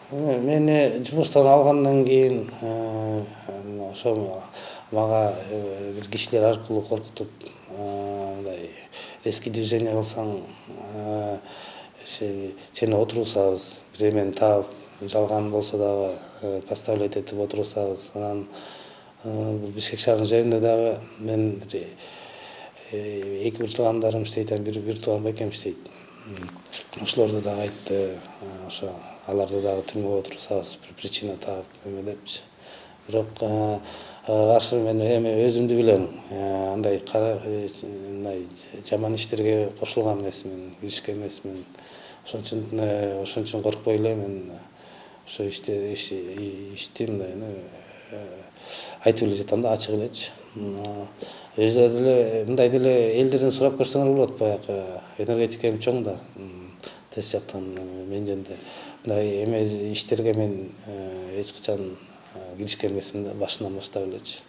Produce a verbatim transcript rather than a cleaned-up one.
Мени жумуштан алгандан кийин ошо мага бир кишилер аркылуу коркутуп, мындай резкий движение кылсаң сени отургузабыз, бир эмени таап, жалган болсо дагы поставлять этип отургузабыз. Анан бул Бишкек шаарынын жайында дагы мен эки бир туугандарым иштейт, анан бир тууган байкем иштейт. Ошолорду дагы айтты, ошо аларды дагы түрмөгө отургузабыз, бир причина таап эме депчи. Бирок каршы мен эми өзүмдү билем, андай мындай жаман иштерге кошулган эмесмин, киришкен эмесмин. Ошон үчүн ошон үчүн коркпой эле мен ошо ишти ишти мындай айтып эле жатам да, ачык элечи. Өзү деле мындай деле элдерден сурап көрсөңөр болот, баягы энергетикем чоң да, тез жактан мен жөнүндө мындай эме иштерге мен эч качан киришкен эмесмин да, башынан баштап элечи.